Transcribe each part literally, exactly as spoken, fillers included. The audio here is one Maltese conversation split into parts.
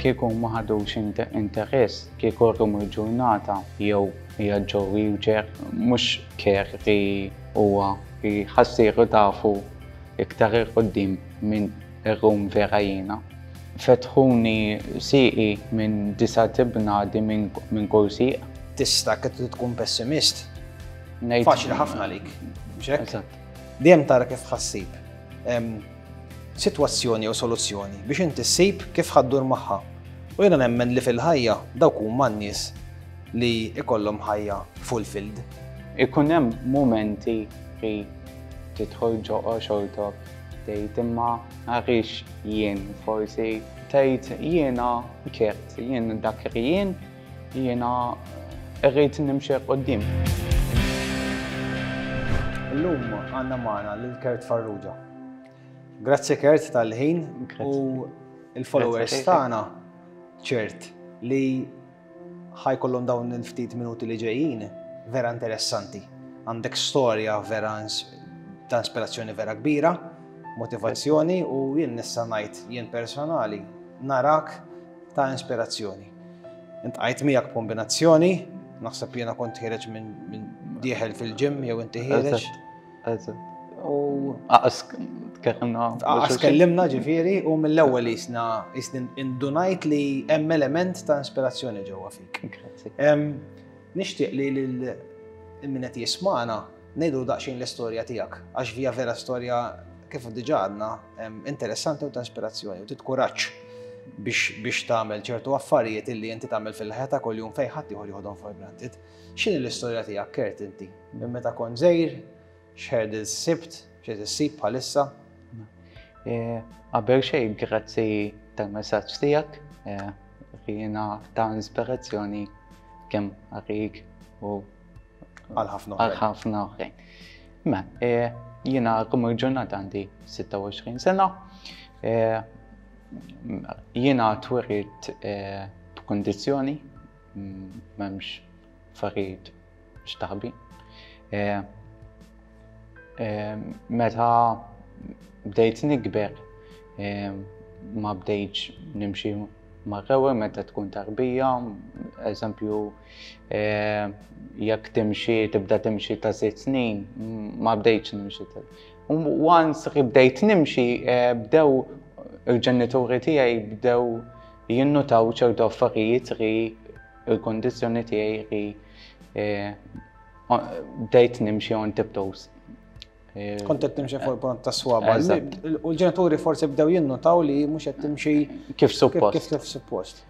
Kieku ma ħadux interess, kieku rrum il-ġurnata jew hija ġo wheelchair, mhux Kurt huwa ħa ssiru tafu iktar 'il quddiem minn ir-rum vera jiena. Fetħuni siqi minn disa' tibnadi minn kull siq. Tista' kif tkun pessimist. Ngħid- Faċli ħafna lik. Mhux hekk? Eżatt. Dejjem tara kif ħa ssib sitwazzjoni jew soluzzjoni biex inti ssib kif ħa ddur magħha. U jiena nemmen li fil-ħajja dawk huma n-nies li ikollhom ħajja fulfilled. Ikun hemm momenti li tidħol ġo xortok tgħid imma għaliex jien forsi tgħid jiena Kurt, jien dak li jien, jiena rrid nimxi quddiem. Illum għandna magħna lil Kurt Farrugia. Grazzi Kurt tal-ħin Grazzi. u il-followers Grazzi. tagħna ċert li ħa jkollhom dawn il-ftit minuti li ġejjin vera interessanti. Għandek storja vera ins- ta' ispirazzjoni vera kbira, motivazzjoni u jien nista' ngħid jien personali narak ta' ispirazzjoni. Iltqajt miegħek kombinazzjoni, naħseb jiena kont ħiereġ minn min dieħel fil-gym jew inti ħiereġ. Eżatt, eżatt. U Aqas tkellimna. Aqas kellimna ġifieri u mill-ewwel jisna jisni indunajt li hemm element ta' ispirazzjoni ġewwa fik. Grazzi. Em, Nixtieq li lil min qed jismana ngħidu daqsxejn l-istorja tiegħek għax vija vera storja kif diġà għadna em, interessanti u ta' ispirazzjoni u tit kuraġġ biex biex tagħmel ċertu affarijiet illi inti tagħmel fil-ħajja ta' kuljum fejn ħadd ieħor joħodhom for granted. X'inhi l-istorja tiegħek Kurt inti? Minn meta kont żgħir, x'hurdles sibt, x'qed issib bħalissa? Eh, Qabel xejn, grazzi tal-messaġġ tiegħek, eh, jiena ta' ispirazzjoni kemm għalik u Għal ħafna għal oħrajn. ħafna oħrajn. Ma, eh, jiena kum il-ġurnata għandi sitta u għoxrin sena. Eh, Jiena twelidt eh, b'kondizzjoni, mm, m'hemmx affarijiet x'taħbi. Eh, eh, Meta bdejt nikber, eh, ma bdejtx nimxi mar-rewe meta tkun tarbija, eżempju, eh, jekk timxi, tibda timxi ta' sitt snin, ma bdejtx nimxi. ta- U once li bdejt nimxi, eh, bdew il-ġenituri tiegħi bdew jinnutaw ċertu affarijiet li il-kondizzjoni tiegħi li eh, bdejt nimxi on tiptoes. Eh, Kont qed timxi fuq il-pont ta' swaba. Eżatt. U l-ġenituri forsi bdew jinnutaw li mhux qed timxi Kif kif suppost. kif kif suppost.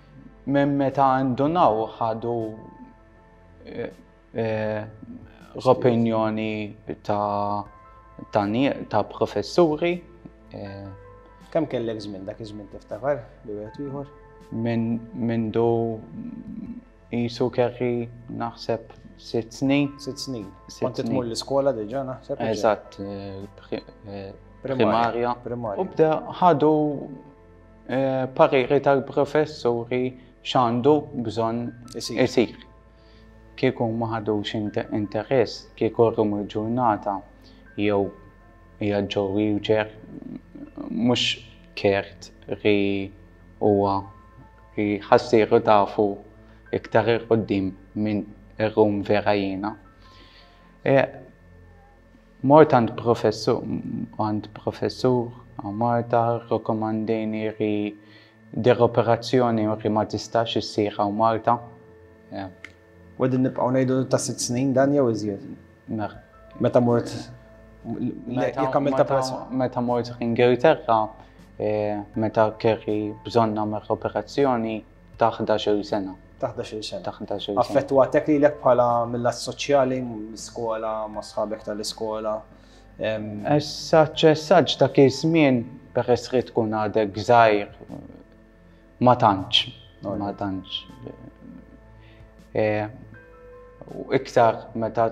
Minn meta ndunaw ħadu eh, eh, l-opinjoni ta' ta' nie- ta' professuri eh, Kemm kellek żmien dak iż-żmien tiftakar li wieħed u ieħor? minn mindu jisu kelli naħseb sitt snin. Sitt snin. Sitt Kont tmur snin. l-iskola diġà naħseb. Eżatt, eh, pri- eh, Primarja. primarja. Primarja. U bda ħadu eh, pariri tal-professuri x'għandu bżonn Isir. isir. Kieku ma ħadux inter- interess, kieku rrum il-ġurnata jew hija ġo wheelchair, mhux Kurt li huwa li ħa ssiru tafu iktar 'il quddiem minn ir-rum vera jiena. E, Mort għand professur, għand professur Malta, rekomandini li dir operazzjoni li ma tistax issir hawn Malta. E, U qegħdin nibqgħu ngħidu ta' sitt snin dan jew iżjed. mer- Meta mort jekk għamilt meta, operazzjoni. meta mort l-Ingilterra, eh, meta kelli bżonn nagħmel operazzjoni ta' ħdax-il sena. Ta' ħdax-il sena. Ta' ħdax-il sena. Affettwatek lilek bħala mill-lat soċjali, mill-iskola, ma' sħabek tal-iskola. Em, Essaċ, essaċ, dak iż-żmien peress li tkun għadek żgħir ma tantx, ma tantx. Eh, U iktar meta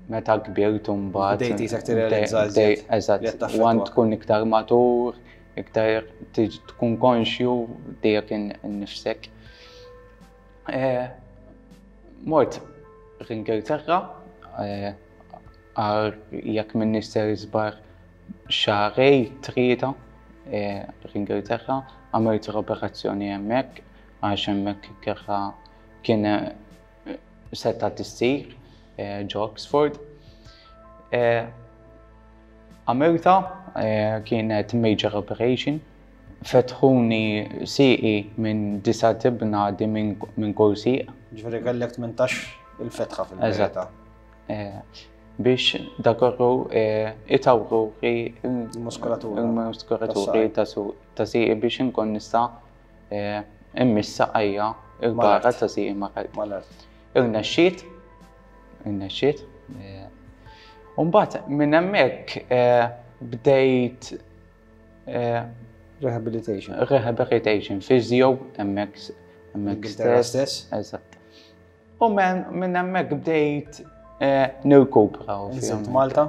meta kbirt mbagħad. Bdejt jisek tirrealizza bdej- iżjed li qed Eżatt, taffettwak. u għand tkun iktar matur, iktar tiġ- tkun konxju tiegħek innifsek. Eh, Mort l-Ingilterra, eh, għal jekk minn nister żbar xahrejn, tlieta, eh, l-Ingilterra, għamilt l-operazzjoni hemmhekk. għax hemmhekk kieħa kien seta tissir ġo Oxford. Għamilta kienet major operation. Fetħuni sieqi minn disa' tibnadi minn kull sieq. Ġifieri kellek tmintax il-fetħa fil-verità. Biex dakorru itawru il-muskolatura il-muskolaturi ta' sieqi biex inkun nista' immiss saqajja il-barra ta' sieqi mal-art. Irnexxiet, irnexxiet. U mbagħad minn hemmhekk bdejt Rehabilitation. Rehabilitation, physio, hemmhekk hemmhekk stess. Eżatt. U minn hemmhekk bdejt nirkupra. Inżilt Malta?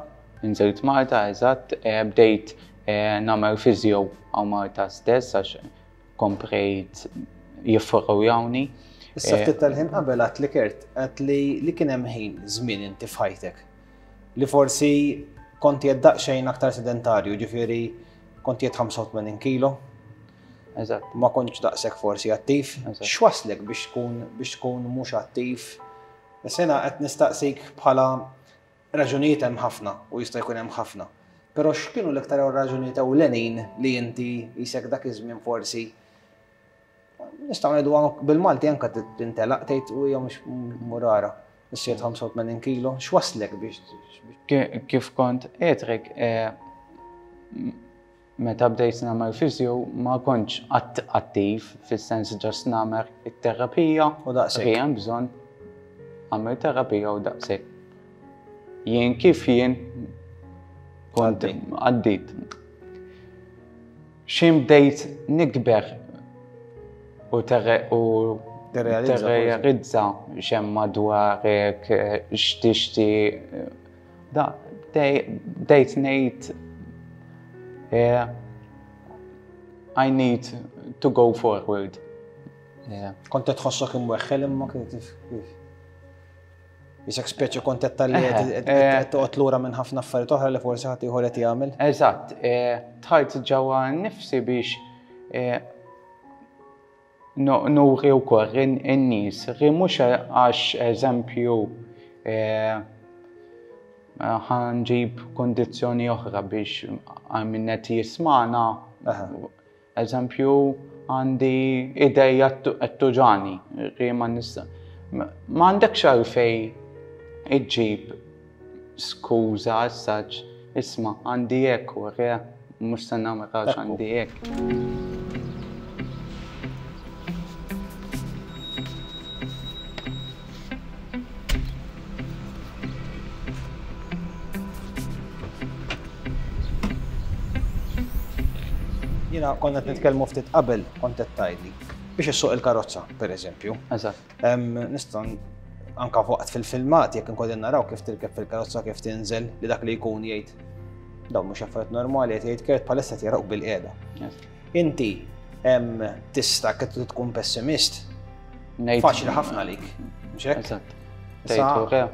Inżilt Malta, eżatt. Bdejt nagħmel physio għaw Malta stess għax komprejt jifforrowjawni. Issa ftit tal-ħin qabel għat li Kurt, għat li kien hemm ħin żmien inti f'ħajtek li forsi konti qed daqsxejn aktar sedentarju, ġifieri konti qed ħamsa u tmenin kilo. Eżatt. Ma kontx daqshekk forsi attiv. X'waslek biex tkun biex tkun mhux attiv? Issa qed nistaqsik bħala raġunijiet hemm ħafna u jista' jkun hemm ħafna. Però x'kienu l-iktar raġunijiet ewlenin li inti isek dak iż-żmien forsi nistgħu ngħidu bil-Malti anke tintelaq tgħid u hija mhux murara. Issa ħamsa u tmenin kilo, x'waslek biex Kif kont għedrek, meta bdejt nagħmel physio ma kontx attiv fis-sens ġast nagħmel it-terapija u daqshekk. Hemm bżonn għamel terapija u daqshekk. Jien kif jien kont għaddit. X'in bdejt nikber u terrealizza x'hemm madwarek, x'tixti, da bdejt ngħid I need to go forward. Kont qed tħossok imweħħel imma kif kif. Isek speċi kont qed talli qed toqgħod lura minn ħafna affarijiet oħra li forsi ħadd ieħor qed jagħmel. Eżatt, dħalt ġewwa nnifsi biex nuri wkoll in-nies, ri mhux għax eżempju ħanġib kondizzjoni oħra biex min qed jismana. Eżempju għandi idejja qed tuġani, ri ma nista'. Ma għandekx għalfejn iġġib skuża saċ, isma' għandi hekk u re mhux se nagħmel għax għandi hekk. Jiena konna qed nitkellmu ftit qabel kont qed tgħidli biex issuq il-karozza, pereżempju. Eżatt. Nista' anka waqt fil-filmat jekk inkolli naraw kif tirkeb fil-karozza kif tinżel li dak li jkun jgħid dawn mhux affarijiet normali qed jgħid Kurt bħalissa qed jaraw bil-qiegħda. Inti tista' kif tkun pessimist. Faċli ħafna għalik, mhux hekk? Eżatt. Tgħid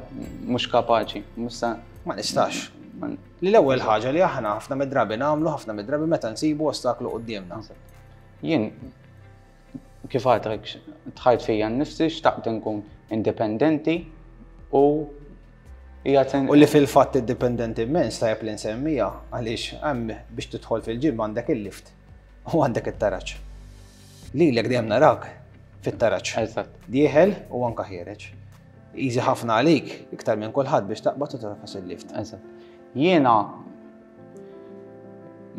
mhux kapaċi, mhux ma nistax. Li l-ewwel ħaġa li aħna ħafna mid-drabi nagħmlu ħafna mid-drabi meta nsibu ostaklu quddiemna. Jien kif għadrek dħalt fija nnifsi xtaqt nkun indipendenti u U li fil-fatt indipendenti immens tajjeb li nsemmija għaliex hemm biex tidħol fil-ġim għandek il-lift u għandek it-taraġ. Lilek dejjem narak fit-taraġ. Eżatt. Dieħel u anke ħiereġ. Easy ħafna għalik iktar minn kulħadd biex taqbad u tagħfas il-lift. Eżatt. Jiena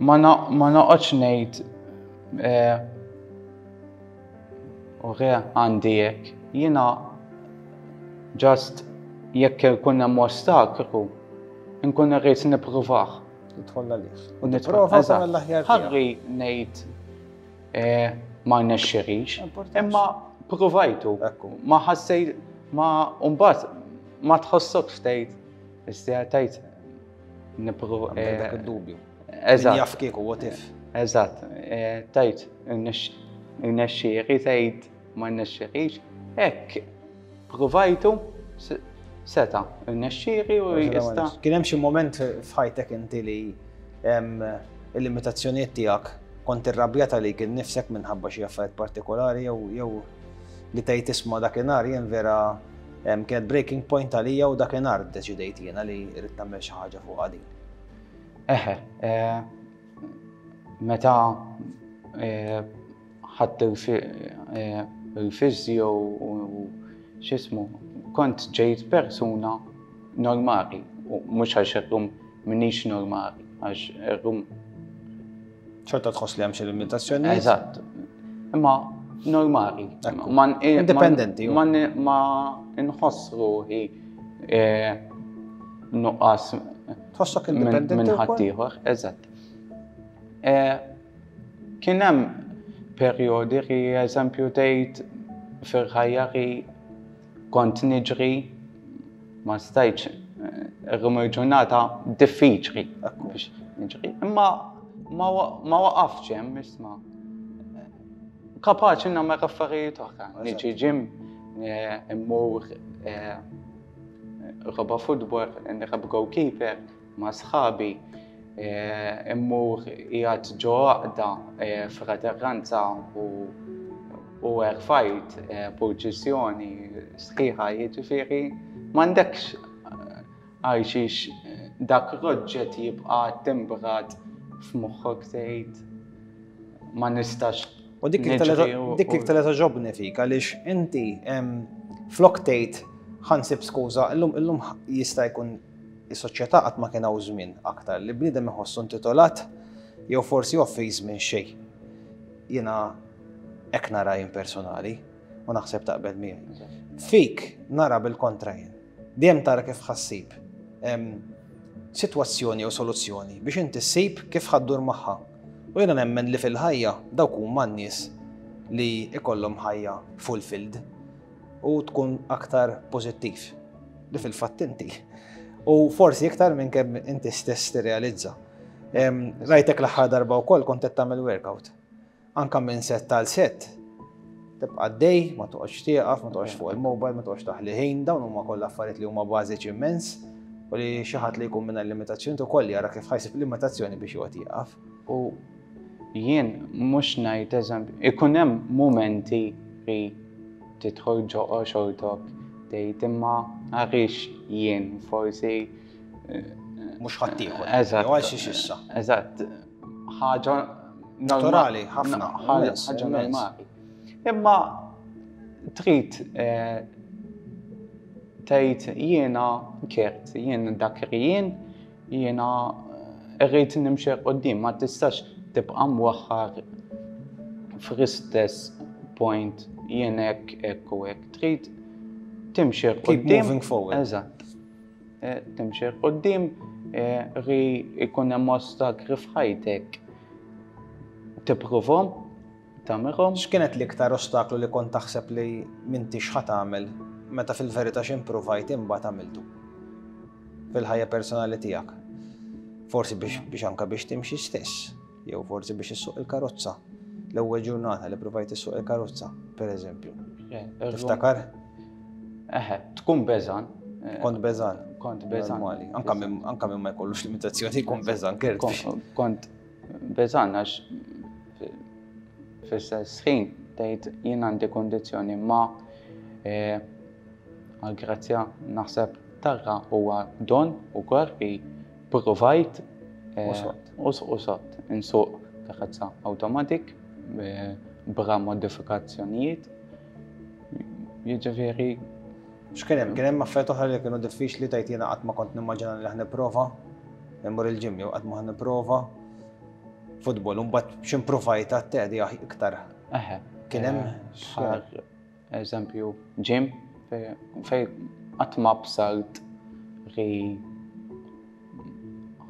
ma noqgħodx ngħid u re għandi hekk. Jiena just jekk ikun hemm ostaklu, nkun irrid nippruvah. Tidħol għalih. U nipprova tagħmel l-aħjar. Ħarri ngħid ma rnexxirix, imma provajtu. Ma ħassejt ma mbagħad ma tħossokx tgħid, issa tgħid nipprova. Dak id-dubju. Eżatt. Jaf kieku what if. Eżatt. Tgħid irnexxieri tgħid ma rnexxirix, hekk provajtu seta' irnexxieri u jista'. Kien hemm xi moment f'ħajtek inti li il-limitazzjonijiet tiegħek Kont irrabjata li kien nifsek minħabba xi affarijiet partikolari jew jew li tgħid isma' dakinhar jien vera kienet breaking point għalija u dakinhar ddeċidejt jiena li rrid nagħmel xi ħaġa fuq din. Eħe, meta ħadt il-physio u x'ismu, kont ġejt persuna normali, u mhux għax illum m'iniex normali, għax illum Xorta tħoss li hemm xi limitazzjoni? Eżatt. Imma normali. Indipendenti. Ma nħoss ruħi nuqqas Tħossok indipendenti minn ħaddieħor, eżatt. Kien hemm perjodi li eżempju tgħid fil-ħajja li kont niġri ma stajtx illum il-ġurnata diffiċli biex niġri. Imma ma waqafx hemm isma'. Kapaċi nagħmel affarijiet oħra. Niġi gym, immur nilgħab futbol, nilgħab goalkeeper ma' sħabi, immur qiegħed ġo għaqda fratellanza u u erfajt purċissjoni sħiħa, jiġifieri m'għandekx għal xiex dak l-oġġett jibqa' timbrat f'moħħok tgħid ma nistax. U dik dik iktar li togħġobni fik għaliex inti flok tgħid ħa nsib skuża, illum illum jista' jkun is-soċjetà qatt ma kien hawn żmien aktar li bniedem iħossu intitolat jew forsi offiż minn xejn. Jiena hekk nara jien personali u naħseb taqbel miegħi. Fik nara bil-kontra jien. Dejjem tara kif ħa ssib sitwazzjoni jew soluzzjoni biex inti ssib kif ħa ddur magħha. U jiena nemmen li fil-ħajja dawk huma n-nies li ikollhom ħajja fulfilled u tkun aktar pożittiv li fil-fatt inti. U forsi iktar minn kemm inti stess tirrealizza. Rajtek l-aħħar darba wkoll kont qed tagħmel workout. Anka minn set tal set tibqa' għaddej, ma toqgħodx tieqaf, ma toqgħodx fuq il-mobile, ma toqgħodx taħli ħin, dawn huma kollha affarijiet li huma bażiċi immens u li xi ħadd li jkun minn limitazzjoni ukoll jara kif ħa jsib limitazzjoni biex joqgħod jieqaf. U jien mhux ngħid eżempju, ikun hemm mumenti li tidħol ġo xortok tgħid imma għaliex jien forsi mhux ħaddieħor. Eżatt. Jew għal xiex issa. Eżatt. Ħaġa naturali ħafna. Ħaġa normali. Imma trid tgħid jiena kert, jien dak li jien, jiena rrid nimxi quddiem, ma tistax tibqa' mwaħħar fl-istess point jien hekk hekk u hekk. Trid timxi Keep moving forward. Eżatt. Timxi quddiem ri jkun hemm ostakli f'ħajtek. Tippruvhom, tagħmilhom. X'kienet l-iktar ostaklu li kont taħseb li m'intix ħa tagħmel meta fil-verità x'impruvajt imbagħad għamiltu fil-ħajja personali tiegħek? Forsi biex, biex anka biex timxi stess, jew forsi biex issuq il-karozza. L-ewwel ġurnata li provajt issuq il-karozza, per eżempju. Tiftakar? Eħe, tkun beżan. Kont beżan. Kont beżan. Normali. Anka minn anka minn ma jkollux limitazzjoni jkun beżan, kert. Kont beżan għax fl-istess ħin tgħid jien għandi kondizzjoni ma għal grazzja naħseb tarra huwa don ukoll li provajt u soqt insuq karozza automatic bra modifikazzjonijiet. Jiġifieri X'kien hemm? Kien hemm affarijiet oħra li kienu diffiċli tgħid jiena qatt ma kont nimmaġina li ħa nipprova immur il-gym jew qatt ma ħa nipprova futbol u mbagħad x'impruvajt għat-tedi iktar. Eħe. Kien hemm bħal eżempju gym fej qatt ma bsalt li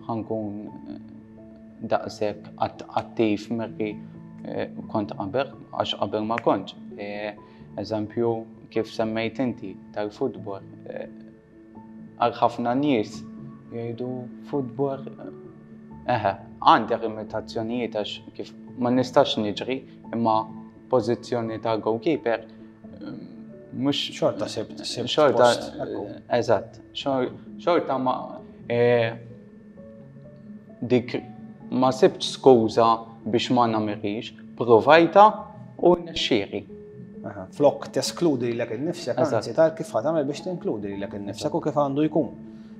ħa nkun daqshekk attiv milli kont qabel, għax qabel ma kontx. Eżempju, kif semmejt inti tal-futbol, għal ħafna nies jgħidu futbol, eħe, għandi limitazzjonijiet għax kif ma nistax niġri, imma pożizzjoni ta' goalkeeper mhux xorta sibt, sibt xorta, post, ekku. Eżatt, xorta ma dik ma sibtx skuża biex ma nagħmilhiex, provajta u rnexxieli. Aha, flok teskludi lilek innifsek, Eżatt. anzi tara kif ħa tagħmel biex tinkludi lilek innifsek u kif għandu jkun.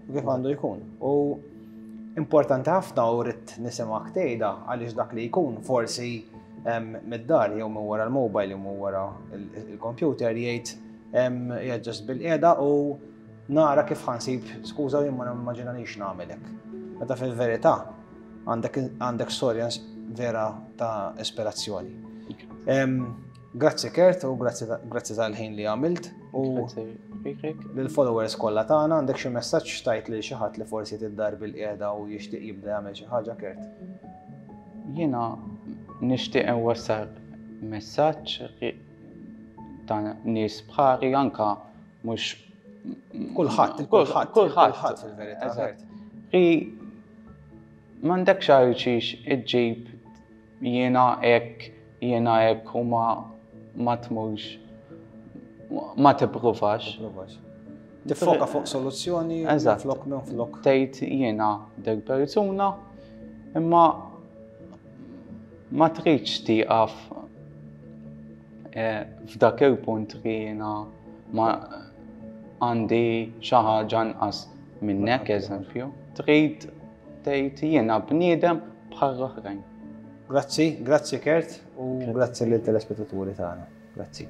U kif għandu jkun. U importanti ħafna u rrid nisimgħek tgħidha għaliex dak li jkun forsi em, mid-dar jew minn wara l-mobile jew minn wara il- il-computer jgħid em, qiegħed just bil-qiegħda u nara kif ħa nsib skuża jien ma nimmaġinanix nagħmel hekk. Meta fil-verità għandek għandek storja vera ta' ispirazzjoni. Em, Grazzi Kurt u grazzi ta- grazzi tal-ħin li għamilt u Grazzi lilek. lill-followers kollha tagħna għandek xi messaġġ tgħid lil xi ħadd li forsi id-dar bil-qiegħda u jixtieq jibda jagħmel xi ħaġa, Kurt. Jiena nixtieq inwassal messaġġ ri- ta' nies bħali, anka mhux Kulħadd, kulħadd, kulħadd kulħadd fil-verità. Eżatt. Kurt. Ri m'għandekx għal xiex iġġib jiena hekk, jiena hekk u ma ma tmurx, ma tippruvax. Provax. Tiffoka fuq soluzzjoni Eżatt. flok minn flok. Tgħid jiena dik persuna, imma ma tridx tieqaf eh, f'dak il-punt li jiena ma għandi xi ħaġa nqas minnek, eżempju. Trid tgħid jiena bniedem bħal oħrajn. Grazzi, grazzi Kurt u grazzi lill telespettaturi tagħna. Grazzi.